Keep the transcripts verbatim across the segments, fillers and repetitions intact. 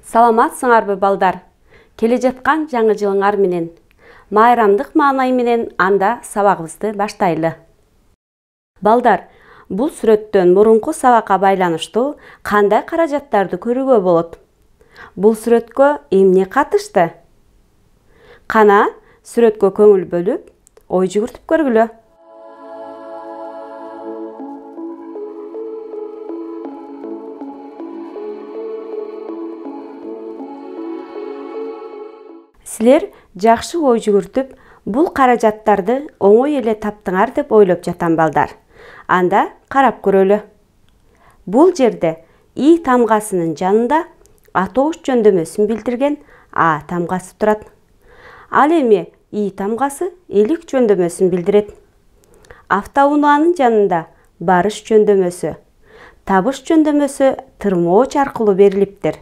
Саламатсыңарбы балдар? Келе жаткан жаңы жылыңар менен, майрамдык маанай менен анда сабагыбызды баштайлы. Балдар, бул сүрөттөн мурунку сабакка байланыштуу кандай каражаттарды көрүүгө болот? Бул сүрөткө эмне катышты? Кана, сүрөткө көңүл бөлүп, ой жүгүртүп көргүлө. Силер жакшы ой жүгүртүп, бул каражаттарды оңой эле таптыңар деп ойлоп жатам балдар. Анда карап көрөлү. Бул жерде И тамгасынын жанында атош жөндөмөсүн билдирген А тамгасы турат. Ал эми И тамгасы элик жөндөмөсүн билдирет. Автоунаанын жанында барыш жөндөмөсү, табыш жөндөмөсү тырмооч аркылуу берилиптир.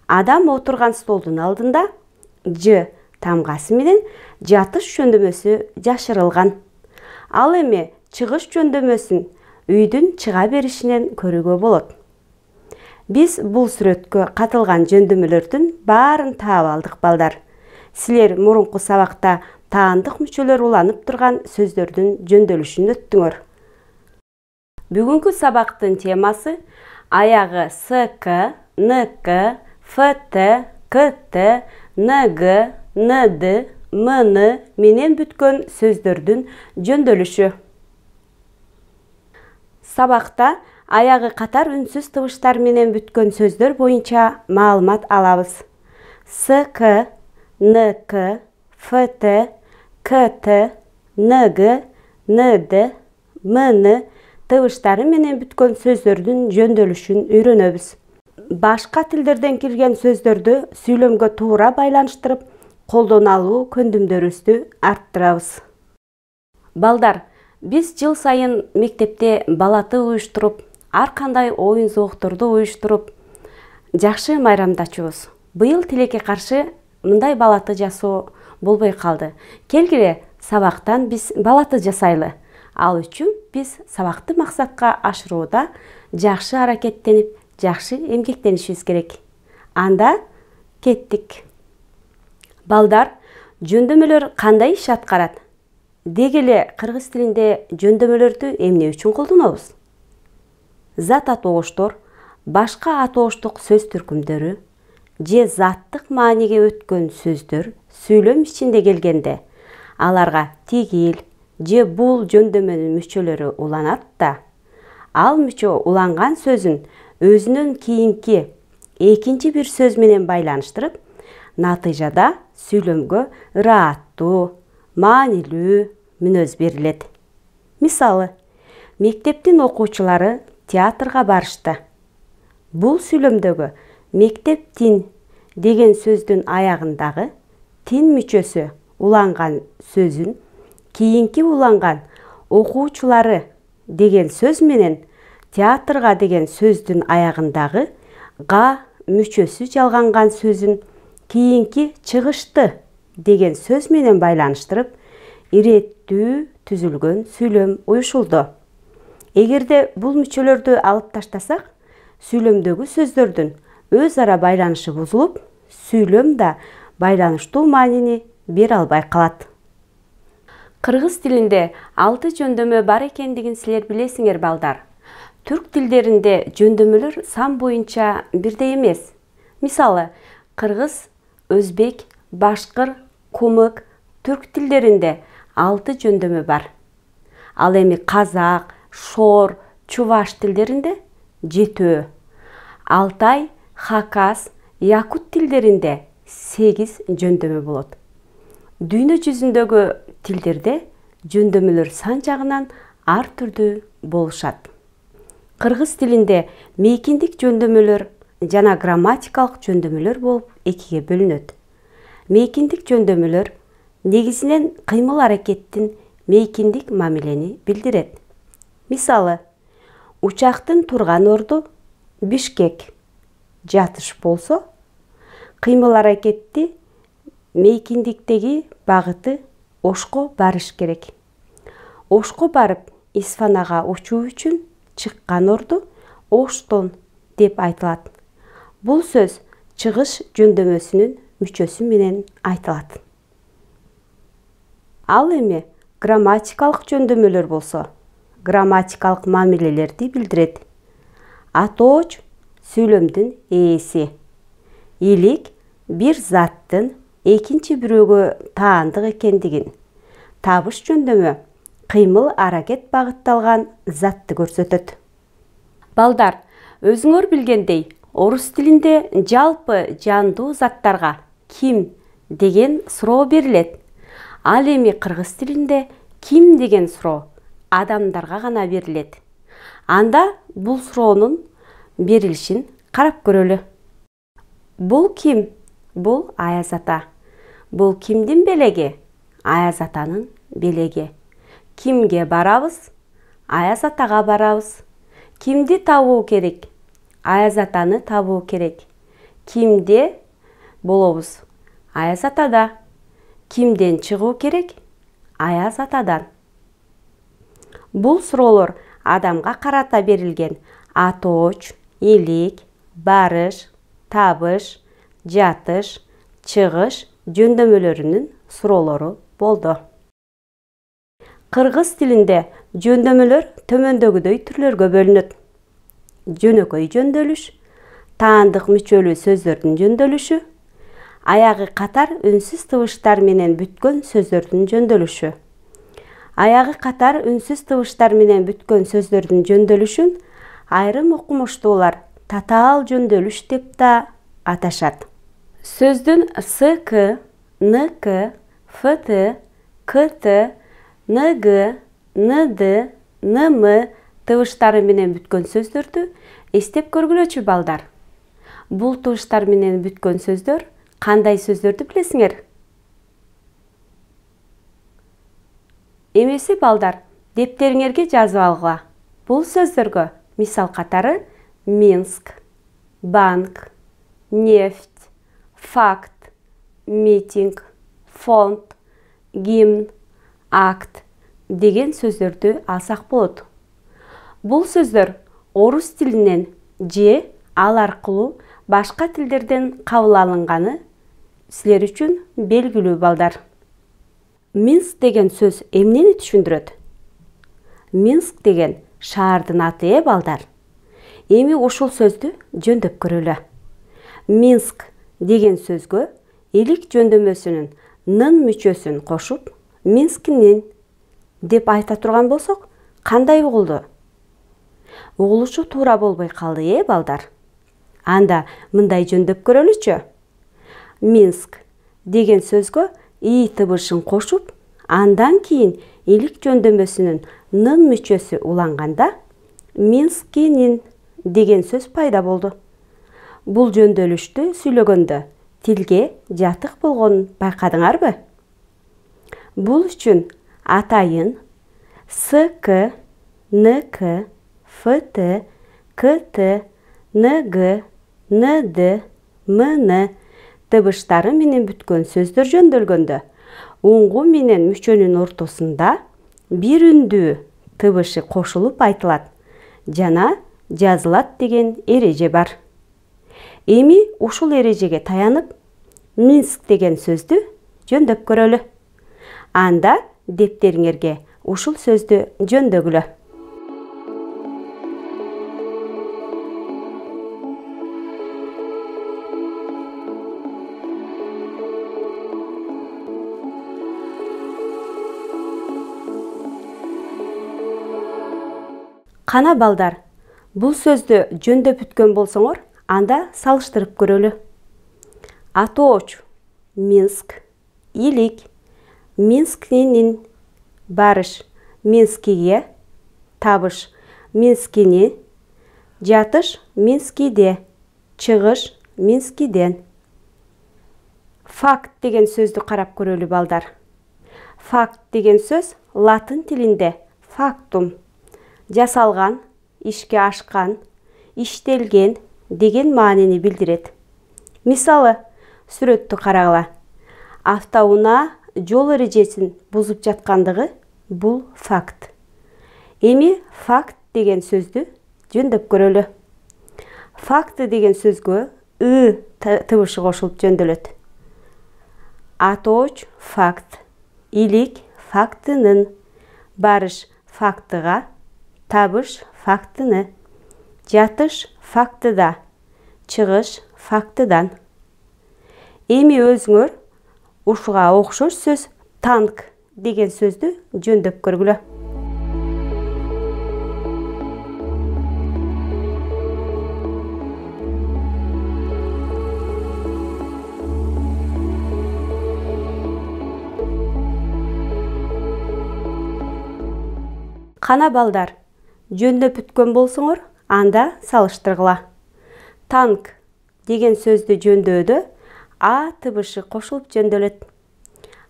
Адам отурган столдун алдында Ж тамгасы менен жатыш жөндөмөсү жашырылган. Ал эми чыгыш жөндөмөсүн үйдүн чыга беришинен көрүүгө болот. Биз бул сүрөткө катылган жөндөмөлөрдүн баарын таап алдык балдар. Силер мурунку сабакта таандык мүчөлөр уланып турган сөздөрдүн жөндөлүшүн өттүңөр. Бүгүнкү сабактын темасы аягы С К, Н К, Ф Т, К Т, Н Г, Н Д, М Н менен бүткөн сөздөрдүн жөндөлүшү. Сабакта аягы катар үнсүз табыштар менен бүткөн сөздөр боюнча маалымат алабыз. С К, Н К, Ф Т, К Т, Н Г, Н Д, М Н табыштары менен бүткөн сөздөрдүн жөндөлүшүн үйрөнөбүз. Башка тилдерден келген сөздөрдү сүйлөмгө туура байланыштырып, колдоно алуу көндүмдөрүбүздү арттырабыз. Балдар, биз жыл сайын мектепте балаты уюштуруп, ар кандай оюн зоокторду уюштуруп, жакшы майрамдачубуз. Быйыл тилекке каршы мындай балаты жасоо болбой калды. Келгиле, сабактан биз балаты жасайлы. Ал үчүн биз сабакты максатка ашырууда жакшы аракеттенип, жакшы эмгектенишибиз керек. Анда кеттик. Балдар, жөндөмөлөр кандай иш аткарат? Деги эле кыргыз тилинде жөндөмөлөрдү эмне үчүн колдонобуз? Зат атооштор, башка атооштук сөз түркүмдөрү же заттык мааниге өткөн сөздөр сүйлөм ичинде келгенде аларга тигил же бул жөндөмөнүн мүчөлөрү уланат да, ал мүчө уланган сөзүн өзүнөн кийинки экинчи бир сөз менен байланыштырып, натыйжада сүйлөмгө ырааттуу, маанилүү мүнөз берилет. Мисалы, мектептин окуучулары театрга барышты. Бул сүйлөмдөгү мектептин деген сөздүн аягындагы тин мүчөсү уланган сөзүн кийинки уланган окуучулары деген сөз менен театрга деген сөздүн аягындагы га мүчөсү жалганган сөзүн кийинки чыгышты деген сөз менен байланыштырып, иреттүү түзүлгөн сүйлөм уюшулду. Эгерде бул мүчөлөрдү алып таштасак, сүйлөмдөгү сөздөрдүн өз ара байланышы бузулуп, сүйлөм да байланыштуу маанини бере албай калат. Кыргыз тилинде алты жөндөмө бар экендигин силер билесиңер балдар. Түрк тилдеринде жөндөмөлөр сан боюнча бирдей эмес. Мисалы, кыргыз, өзбек, башкыр, кумык, түрк тилдеринде алты жөндөмө бар. Ал эми казак, шор, чуваш тилдеринде жетөө. Алтай, хакас, якут тилдеринде сегиз жөндөмө болот. Дүйнө жүзүндөгү тилдерде жөндөмөлөр сан жагынан ар түрдүү болушат. Кыргыз тилинде мейкиндик жөндөмөлөр жана грамматикалык жөндөмөлөр болуп экиге бөлүнөт. Мейкиндик жөндөмөлөр негизинен кыймыл аракеттин мейкиндик мамилени билдирет. Мисалы, учактын турган орду Бишкек, жатыш болсо, кыймыл аракетти мейкиндиктеги багыты Ошко барыш керек. Ошко барып Исфанага учуу үчүн чыккан орду Оштон деп айтылат. Бул сөз чыгыш жөндөмөсүнүн мүчөсү менен айтылат. Ал эми грамматикалык жөндөмөлөр болсо, грамматикалык мамилелерди билдирет. Атооч сүйлөмдүн ээси. Илик бир заттын экинчи бирөөгө таандык экендигин. Табыш жөндөмө кыймыл аракет багытталган затты көрсөтөт. Балдар, өзүңөр билгендей, орус тилинде жалпы жандуу заттарга ким деген суроо берилет. Ал эми кыргыз тилинде ким деген суроо адамдарга гана берилет. Анда бул суроонун берилишин карап көрөлү. Бул ким? Бул Аяз ата. Бул кимдин белеги? Аяз атанын белеги. Кимге барабыз? Аяз атага барабыз. Кимди табуу керек? Аяз атаны табуу керек. Кимде болобуз? Аяз атада. Кимден чыгуу керек? Аяз атадан. Бул суроолор адамга карата берилген атооч, илик, барыш, табыш, жатыш, чыгыш жөндөмөлөрүнүн суроолору болду. Кыргыз тилинде жөндөмөлөр төмөндөгүдөй түрлөргө бөлүнөт. Жөнөкөй жөндөлүш, таандык мүчөлүү сөздөрдүн жөндөлүшү, аягы катар үнсүз табыштар менен бүткөн сөздөрдүн жөндөлүшү. Аягы катар үнсүз табыштар менен бүткөн сөздөрдүн жөндөлүшүн айрым окумуштуулар татаал жөндөлүш деп да аташат. Сөздүн СК, НК, ФТ, КТ, НГ, НД, НМ табыштары менен бүткөн сөздөрдү эстеп көргүлөчү балдар. Бул табыштар менен бүткөн сөздөр кандай сөздөрдү билесиңер? Эмеси балдар, дептериңерге жазып алгыла. Бул сөздөргө мисал катары Минск, банк, нефть, факт, митинг, фонд, гимн, акт деген сөздөрдү алсак болот. Бул сөздөр орус тилинен же ал аркылуу башка тилдерден кабыл алынганы силер үчүн белгилүү балдар. Минск деген сөз эмнени түшүндүрөт? Минск деген шаардын аты э балдар. Эми ушул сөздү жөндөп көрөлү. Минск деген сөзгө илик жөндөмөсүнүн нын мүчөсүн кошуп, Минскинин деп айта турган болсок, кандай угулду? Угулушу туура болбой калды э балдар. Анда мындай жөндөп көрөлүчү. Минск деген сөзгө и табышын кошуп, андан кийин илик жөндөмөсүнүн нын мүчөсү уланганда Минскинин деген сөз пайда болду. Бул жөндөлүштү сүйлөгөндө тилге жатык болгонун байкадыңарбы? Бул үчүн атайын СК, НК, ФТ, КТ, НГ, НД, МН табыштары менен бүткөн сөздөр жөндөлгөндө уңгу менен мүчөнүн ортосунда бир үндүү табышы кошулуп айтылат жана жазылат деген эреже бар. Эми ушул эрежеге таянып, Минск деген сөздү жөндөп көрөлү. Анда дептериңерге ушул сөздү жөндөгүлө. Кана балдар, бул сөздү жөндөп бүткөн болсоңор, анда салыштырып көрөлү. Атооч Минск, илик Минскинин, барыш Минскиге, табыш Минскини, жатыш Минскиде, чыгыш Минскиден. Факт деген сөздү карап көрөлү балдар. Факт деген сөз латын тилинде фактум, жасалган, ишке ашкан, иштелген деген маанини билдирет. Мисалы, сүрөттү карагыла. Автоунаа жол эрежесин бузуп жаткандыгы бул факт. Эми факт деген сөздү жөндөп көрөлү. Факт деген сөзгө ы тыбышы кошулуп жөндөлөт. Атооч факт, илик фактынын, барыш фактыга, табыш фактыны, жатыш фактыда, чыгыш фактыдан. Эми өзүңөр ушуга окшош сөз танк деген сөздү жөндөп көргүлө. Кана балдар, жөндөп бүткөн болсоңор, анда салыштыргыла. Танк деген сөздү жөндөодө а тыбышы кошулуп жөндөлөт.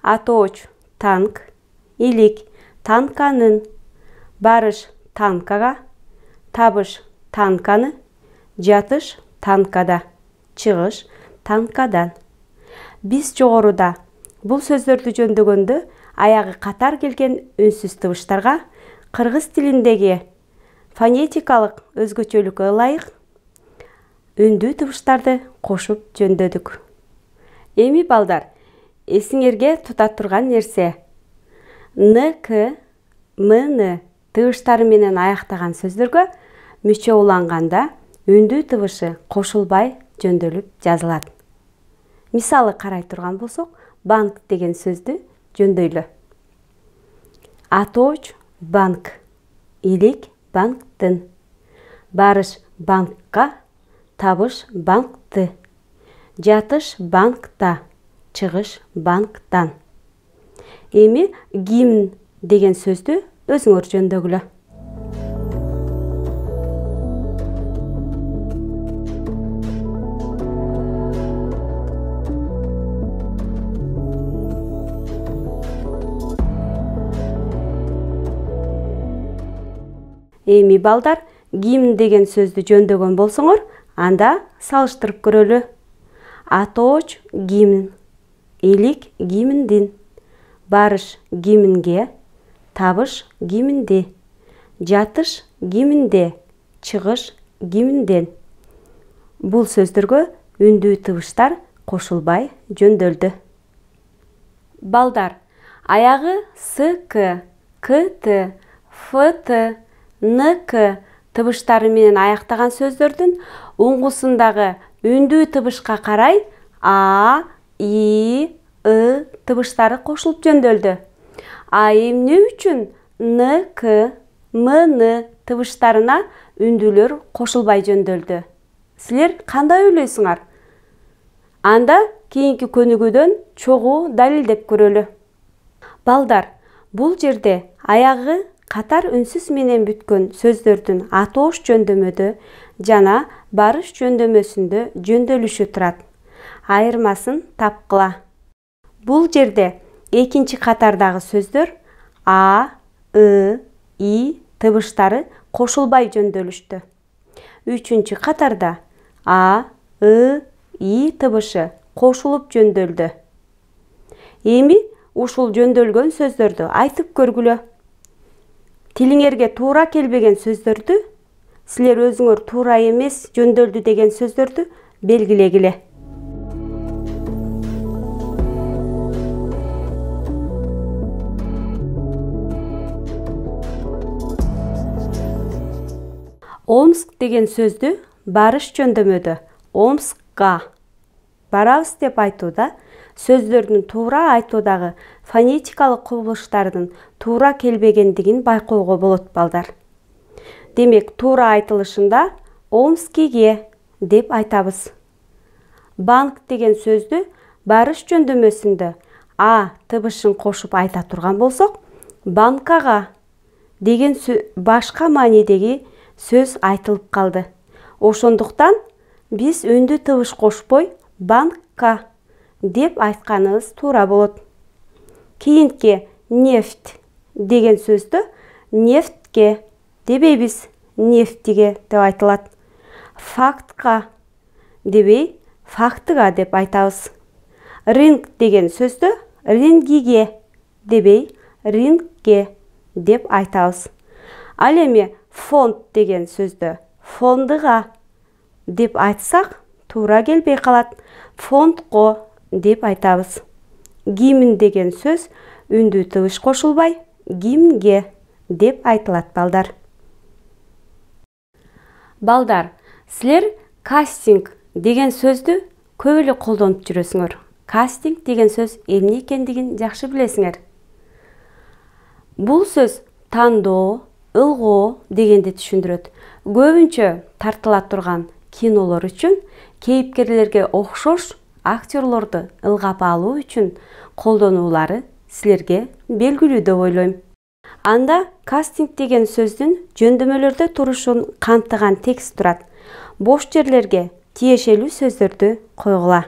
Атооч танк, илик танканын, барыш танкага, табыш танканы, жатыш танкада, чыгыш танкадан. Биз жогоруда бул сөздөрдү жөндөгөндө аягы катар келген үнсүз тыбыштарга кыргыз тилиндеги фонетикалык өзгөчөлүккө ылайык үндүү тыбыштарды кошуп жөндөдүк. Эми балдар, эсиңерге тута турган нерсе н-к, м-ны тыбыштары менен аяктаган сөздөргө мүчө уланганда үндүү тыбышы кошулбай жөндөлүп жазылат. Мисалы карай турган болсок, банк деген сөздү жөндөйлү. Атооч банк, илик банктын, барыш банкка, табыш банкты, жатыш банкта, чыгыш банктан. Эми гимн деген сөздү өзүңөр жөндөгүлө. Эми балдар, гимн деген сөздү жөндөгөн болсоңор, анда салыштырып көрөлү. Атооч гимн, илик гимндин, барыш гимнге, табыш гимнди, жатыш гимнде, чыгыш гимнден. Бул сөздөргө үндүү тыбыштар кошулбай жөндөлдү. Балдар, аягы СК, КТ, ФТ, НК тыбыштары менен аяктаган сөздөрдүн уңгусундагы үндүү тыбышка карай А, И, ы тыбыштары кошулуп жөндөлдү. А эмне үчүн НК, МН тыбыштарына үндүүлөр кошулбай жөндөлдү? Силер кандай ойлойсуңар? Анда кийинки көнүгүүдөн чогуу далилдеп көрөлү. Балдар, бул жерде аягы катар үнсүз менен бүткөн сөздөрдүн атоош жөндөмөдө жана барыш жөндөмөсүндө жөндөлүшү турат. Айырмасын тапкыла. Бул жерде экинчи катардагы сөздөр А, ы, И тыбыштары кошулбай жөндөлүштү. Үчүнчү катарда А, ы, И тыбышы кошулуп жөндөлдү. Эми ушул жөндөлгөн сөздөрдү айтып көргүлө. Тилиңерге туура келбеген сөздөрдү, силер өзүңөр туура эмес жөндөлдү деген сөздөрдү белгилегиле. Омск деген сөздү барыш жөндөмөдө Омскка барабыз деп айтууда сөздөрдүн туура айтуудагы фонетикалык кубулуштардын туура келбегендигин байкоого болот балдар. Демек, туура айтылышында Омскиге деп айтабыз. Банк деген сөздү барыш жөндөмөсүндө А тыбышын кошуп айта турган болсок, банкага деген башка маанидеги сөз айтылып калды. Ошондуктан биз үндүү тыбыш кошпой банкка деп айтканыбыз туура болот. Кийинки нефть деген сөздү нефтке дебейбиз, нефтиге деп айтылат. Фактка дебей, фактыга деп айтабыз. Рынок деген сөздү рынгиге дебей, рынкке деп айтабыз. Ал эми фонд деген сөздү фондуга деп айтсак туура келбей калат. Фондко деп айтабыз. Гимн деген сөз үндүү тыбыш кошулбай, гимнге деп айтылат балдар. Балдар, силер кастинг деген сөздү көп эле колдонуп жүрөсүңөр. Кастинг деген сөз эмне экендигин жакшы билесиңер. Бул сөз тандоо, ылгоо дегенди түшүндүрөт. Көбүнчө тартыла турган кинолор үчүн кейипкерлерге окшош актерлорду ылгап алуу үчүн колдонуулары силерге белгилүү деп ойлойм. Анда кастинг деген сөздүн жөндөмөлөрдө турушун камтыган текст турат. Бош жерлерге тиешелүү сөздөрдү койгула.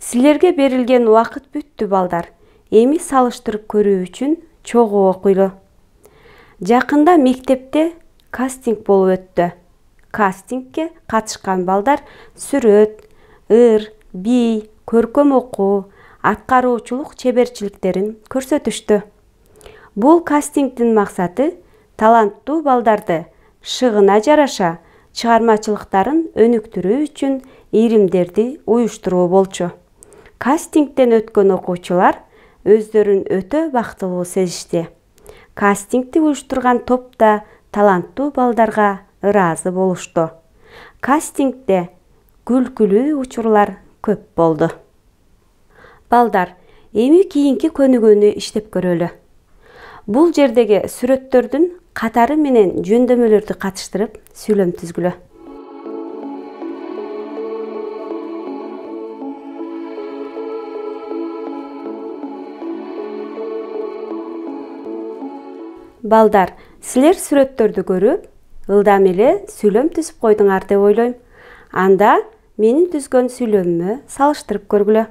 Силерге берилген убакыт бүттү балдар. Эми салыштырып көрүү үчүн чогуу окуйлу. Жакында мектепте кастинг болуп өттү. Кастингке катышкан балдар сүрөт, ыр, бий, көркөм окуу, аткаруучулук чеберчиликтерин көрсөтүштү. Бул кастингдин максаты таланттуу балдарды шыгына жараша чыгармачылыктарын өнүктүрүү үчүн иримдерди уюштуруу болчу. Кастингден өткөн окуучулар өздөрүн өтө бактылуу сезишти. Кастингди уюштурган топ да таланттуу балдарга ыраазы болушту. Кастингде күлкүлүү учурлар көп болду. Балдар, эми кийинки көнүгүүнү иштеп көрөлү. Бул жердеги сүрөттөрдүн катары менен жөндөмөлөрдү катыштырып сүйлөм түзгүлө. Балдар, силер сүрөттөрдү көрүп, ылдам эле сүйлөм түзүп койдуңар деп ойлойм. Анда менин түзгөн сүйлөмүмө салыштырып көргүлө.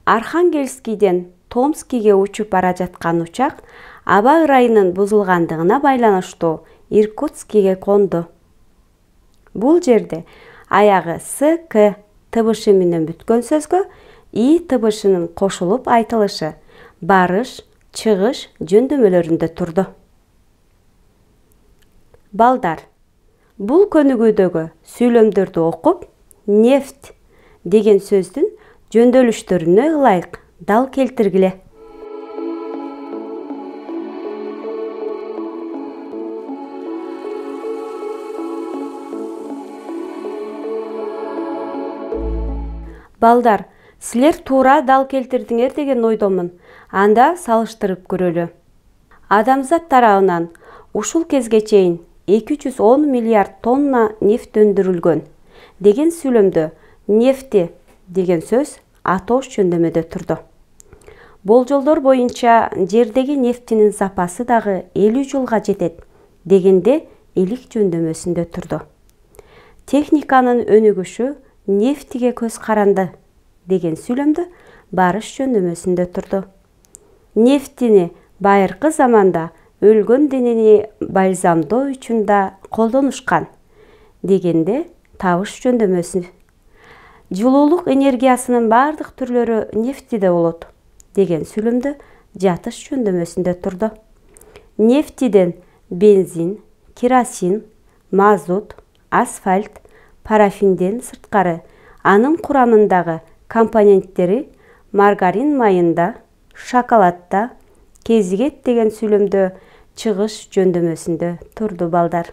Архангельскийден Томскиге учуп бара жаткан учак аба ырайынын бузулгандыгына байланыштуу Иркутскиге конду. Бул жерде аягы с к тыбышы менен бүткөн сөзгө и тыбышынын кошулуп айтылышы барыш, чыгыш жөндөмөлөрүндө турду. Балдар, бул көнүгүүдөгү сүйлөмдөрдү окуп, нефть деген сөздүн жөндөлүштөрүнө ылайык дал келтиргиле. Балдар, силер туура дал келтирдиңер деген ойдомун. Анда салыштырып көрөлү. Адамзат тарабынан ушул кезге чейин эки жүз он миллиард тонна нефть өндүрүлгөн деген сүйлөмдө нефти деген сөз атош жөндөмөдө турду. Болжолдор боюнча жердеги нефтинин запасы дагы элүү жылга жетет дегенде илик жөндөмөсүндө турду. Техниканын өнүгүшү нефтиге көз каранды деген сүйлөмдө барыш жөндөмөсүндө турду. Нефтини байыркы заманда өлгөн денени бальзамдоо үчүн да колдонушкан дегенде табыш жөндөмөсү. Жылуулук энергиясынын бардык түрлөрү нефтиде болот деген сүйлөмдө жатыш жөндөмөсүндө турду. Нефтиден бензин, керосин, мазут, асфальт, парафинден сырткары анын курамындагы компоненттери маргарин майында, шоколадда кезигет деген сүйлөмдө чыгыш жөндөмөсүндө турду балдар.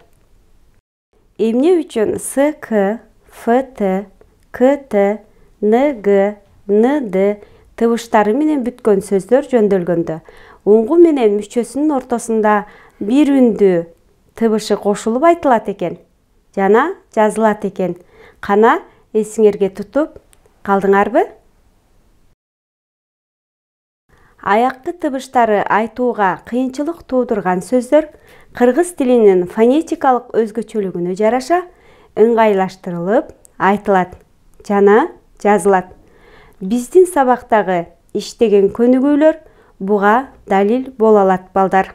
Эмне үчүн с к, ф т, к т, н г, н д тыбыштары менен бүткөн сөздөр жөндөлгөндө уңгу менен мүчөсүнүн ортосунда бир үндүү тыбышы кошулуп айтылат экен жана жазылат экен. Кана эсиңерге тутуп калдыңарбы? Аякты тыбыштары айтууга кыйынчылык туудурган сөздөр кыргыз тилинин фонетикалык өзгөчөлүгүнө жараша ыңгайлаштырылып айтылат жана жазылат. Биздин сабактагы иштеген көнүгүүлөр буга далил боло алат балдар.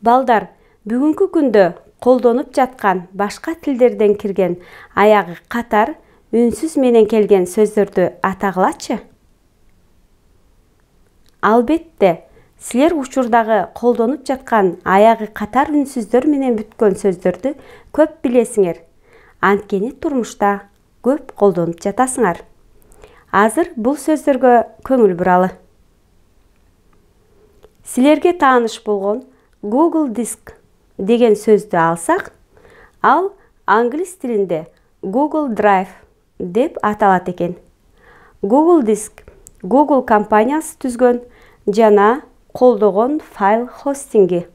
Балдар, бүгүнкү күндө колдонуп жаткан башка тилдерден кирген аягы катар үнсүз менен келген сөздөрдү атагылачы? Албетте, силер учурдагы колдонуп жаткан аягы катар үнсүздөр менен бүткөн сөздөрдү көп билесиңер. Анткени турмушта көп колдонуп жатасыңар. Азыр бул сөздөргө көңүл буралы. Силерге тааныш болгон Google Диск деген сөздү алсак, ал англис тилинде Google Drive деп аталат экен. Google Диск Google компаниясы түзгөн жана колдогон файл хостинги.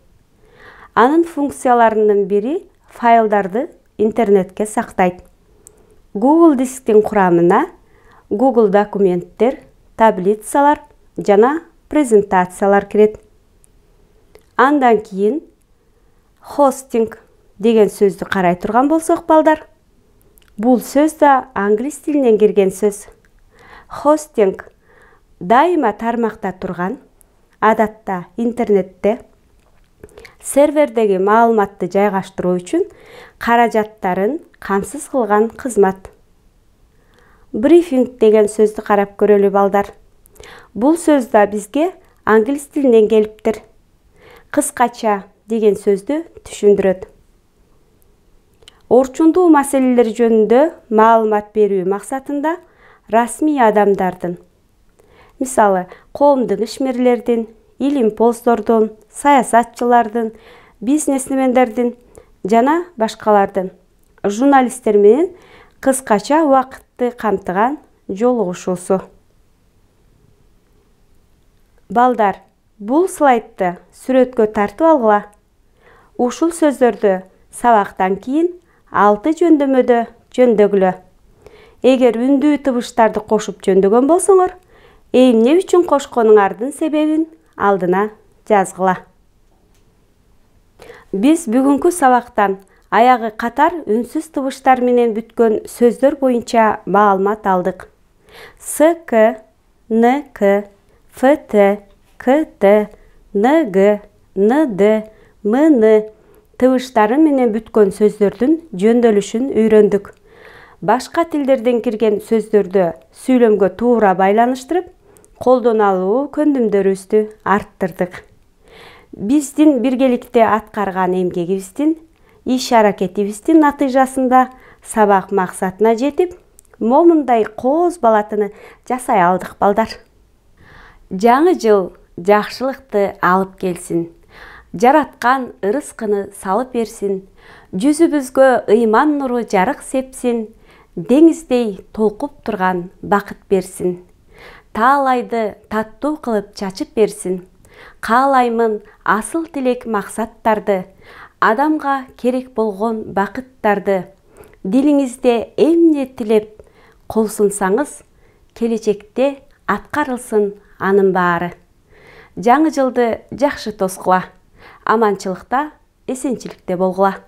Анын функцияларынын бири файлдарды интернетке сактайт. Google Дисктин курамына Google документтер, таблицалар жана презентациялар кирет. Андан кийин хостинг деген сөздү карай турган болсок, балдар, бул сөз да англис тилинен кирген сөз. Хостинг дайыма тармакта турган, адатта интернетте сервердеги маалыматты жайгаштыруу үчүн каражаттарын камсыз кылган кызмат. Брифинг деген сөздү карап көрөлү, балдар. Бул сөз да бизге англис тилинен келиптир. Кыскача деген сөздү түшүндүрөт. Орчундуу маселелер жөнүндө маалымат берүү максатында расмий адамдардын, мисалы, коомдук ишмерлердин, илимпоздордун, саясатчылардын, бизнесмендердин жана башкалардын, журналисттер менен кыскача убакытты камтыган жолугушуусу. Балдар, бул слайдты сүрөткө тартып алгыла. Ушул сөздөрдү сабактан кийин алты жөндөмөдө жөндөгүлө. Эгер үндүү табыштарды кошуп жөндөгөн болсоңор, эмне үчүн кошконуңардын себебин алдына жазгыла. Биз бүгүнкү сабактан аягы катар үнсүз табыштар менен бүткөн сөздөр боюнча маалымат алдык. С К, Н К, Ф Т, К Т, Н Г, Н Д, М Н табыштары менен бүткөн сөздөрдүн жөндөлүшүн үйрөндүк. Башка тилдерден кирген сөздөрдү сүйлөмгө туура байланыштырып, колдоно алуу көндүмдөрүбүздү арттырдык. Биздин биргеликте аткарган эмгегибиздин, иш-аракетибиздин натыйжасында сабак максатына жетип, момундай кооз балатыны жасай алдык, балдар. Жаңы жыл жакшылыкты алып келсин. Жараткан ырыскыны салып берсин. Жүзүбүзгө ыйман нуру жарык сепсин. Деңиздей толкуп турган бакыт берсин. Таалайды таттуу кылып чачып берсин. Каалаймын асыл тилек максаттарды, адамга керек болгон бакыттарды. Дилиңизде эмне тилеп кол сунсаңыз, келечекте аткарылсын анын баары. Жаңы жылды жакшы тоскула. Аманчылыкта, эсенчиликте болгула.